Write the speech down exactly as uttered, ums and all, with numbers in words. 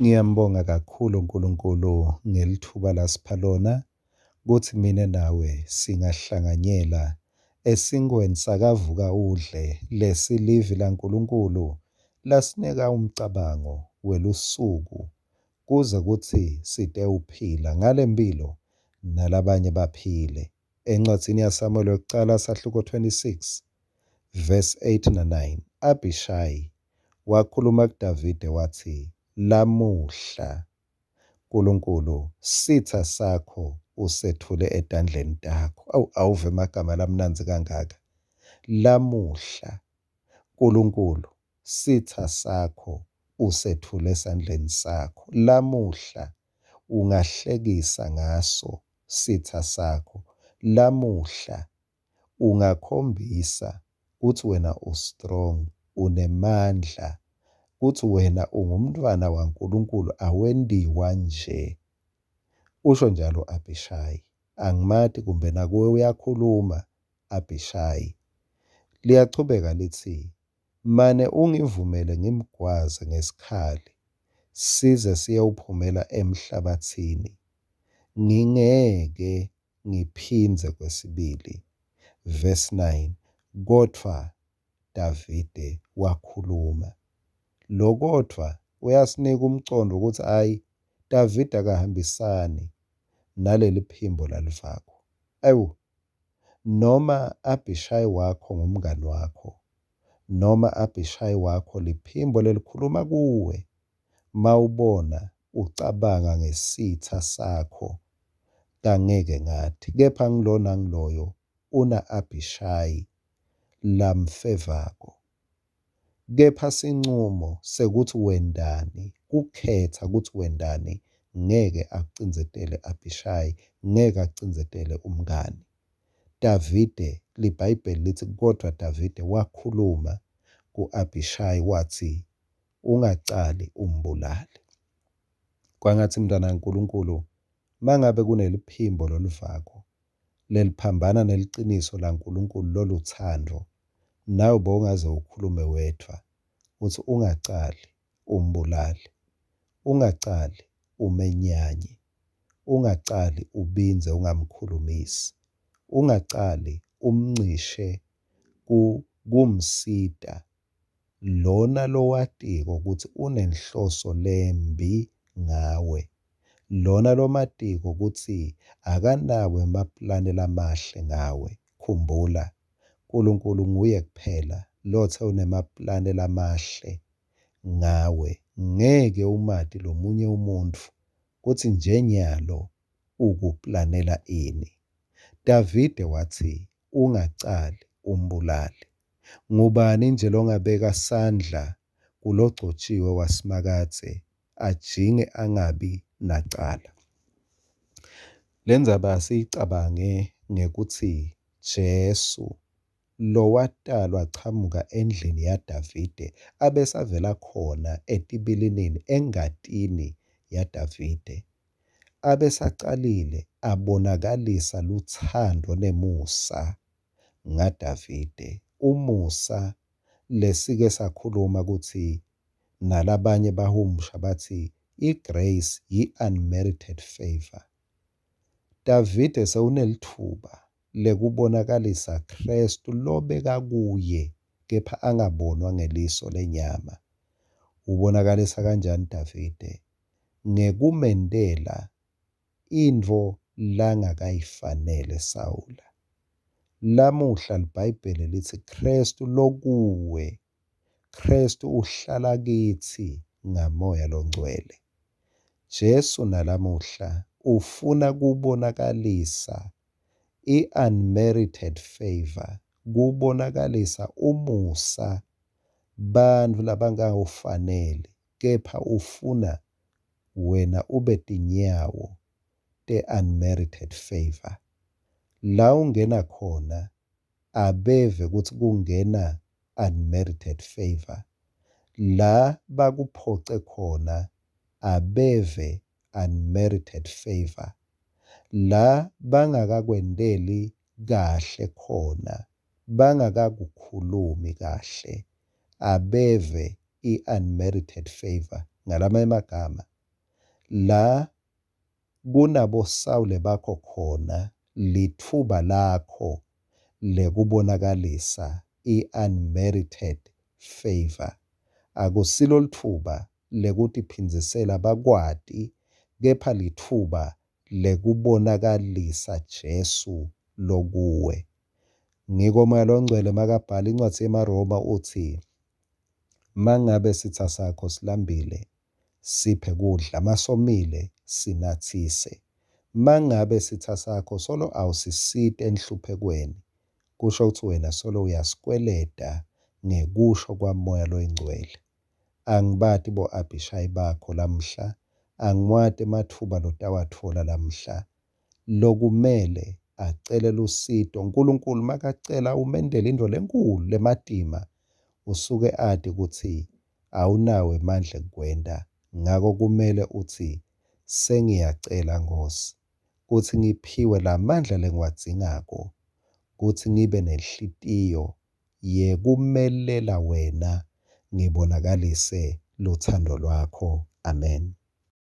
Ngiyambonga kakhulu uNkulunkulu ngelithuba lasipha lona kutsi mine nawe singahlanganyela esinkweni sakavuka udle lesilivi laNkulunkulu lasinika umcabango welusuku kuze kutsi sitewuphila ngalemphilo nalabanye baphile. Encwadzini yaSamuel wekucala sahluko twenty-six verse eight na nine, Abishai wakhuluma kuDavide watsi, "Lamuhla Nkulunkulu sitsa sakho usethule etandleni takho." Awu, awuve emagama lamnandzi kangaka. Lamuhla Nkulunkulu sitsa sakho usethule esandleni sakho. Lamuhla ungahlekisa ngaso sitsa sakho. Lamuhla ungakhombisa kutsi wena u-strong, unemandla, kutsi wena ungumntfwana waNkulunkulu, awentiwa nje. Usho njalo Abishai. Angimati kumbe nakuwe uyakhuluma Abishai. Liyachubeka litsi, mane ungivumele ngimgwaze ngesikhali size siyewuphumela emhlabatsini, ngingeke ngiphindze kwesibili. Verse nine, kodvwa Davide wakhuluma. Lo kodvwa uyasinika umcondvo ukuthi hhayi, Davide akahambisani naleli phimbo lalivako. Awu, noma Abishai wakho ngumngani wakho, noma Abishai wakho liphimbo lelikhuluma kuwe, mawubona ucabanga ngesitsa sakho, kangeke ngathi, kepha ngilona ngiloyo una Abishai lamfevako. Kepha sincumo sekuthi wendani, kukhetha ukuthi wendani, ngeke akucindzetele Abishai, ngeke akucindzetele umngani. Davide, liBhayibheli litsi kodvwa Davide wakhuluma ku-Abishai wathi, ungacali umbulale. Kwangatsi mntwana waNkulunkulu, mangabe kuneliphimbo loluvako leliphambana neliciniso laNkulunkulu loluthando, nawe bowungaze ukhulume wedvwa utsi ungacali umbulale, ungacali umenyanye, ungacali ubindze ungamkhulumisi, ungacali umncishe kumsita lona lowatiko kutsi unenhloso lembi ngawe, lona lomatiko kutsi akanawo emaplani lamahle ngawe. Khumbula, Nkulunkulu nguye kuphela lothe unemaplani lamahle ngawe. Ngeke umati lomunye umuntfu kutsi nje nyalo ukuplanela ini. Davide watsi ungacali umbulale. Ngubani nje longabeka sandla kulogcotjiwe waSimakadze ajinge angabi nacala? Lendzaba asiyicabange ngekutsi Jesu lowatalwa achamuka endlini yaDavide abesavela khona etibilinini engatini yaDavide, abesacalile abonakalisa lutsandvo nemusa ngaDavide. Umusa lesike sakhuluma kutsi nalabanye bahumusha bathi i-grace yi-unmerited favor. Davide sewunelitfuba lekubonakalisa Kristu lobeka kuye kepha angabonwa ngeliso lenyama. Ubonakalisa kanjani Davide? Ngekumentela intfo langakayifanele Sawula. Lamuhla liBhayibheli litsi Kristu lokuwe, Kristu uhlala kitsi ngaMoya loNgcwele. Jesu nalamuhla ufuna kubonakalisa i-unmerited favor, kubonakalisa umusa bantfu labangawufanele, kepha ufuna wena ube tinyawo te-unmerited favor. La ungena khona abeve kutsi kungena unmerited favor. La bakuphoce khona abeve unmerited favor. La bangakakwenteli kahle khona, bangakakukhulumi kahle, abeve i-unmerited favor. Ngalamanye amagama, La kunaboSawule bakho khona, litfuba lakho lekubonakalisa i-unmerited favour. Akusilo litfuba lekutiphindzisela bakwati, kepha litfuba lekubonakalisa Jesu lokuwe. Ngiko Moya Longcwele makabhala incwadzi yemaRoma utsi, mangabe sitsa sakho silambile, siphe kudla, masomile sinatsise. Mangabe sitsa sakho solo awusisiti enhluphekweni, kusho kutsi wena solo uyasikweleda ngekusho kwaMoya Loyingcwele. Angibati bo-Abishayi bakho lamhla, angiwati ematfuba lotawatfola lamhla. Lokumele acele lusito, Nkulunkulu makacela umentele intfo lenkulu lematima, usuke ati kutsi awunawo emandla ekukwenta. Ngako kumele utsi, sengiyacela Nkhosi kutsi ngiphiwe lamandla lengiwadzingako kutsi ngibe nenhlitiyo yekumelela wena, ngibonakalise lutsandvo lwakho. Amen.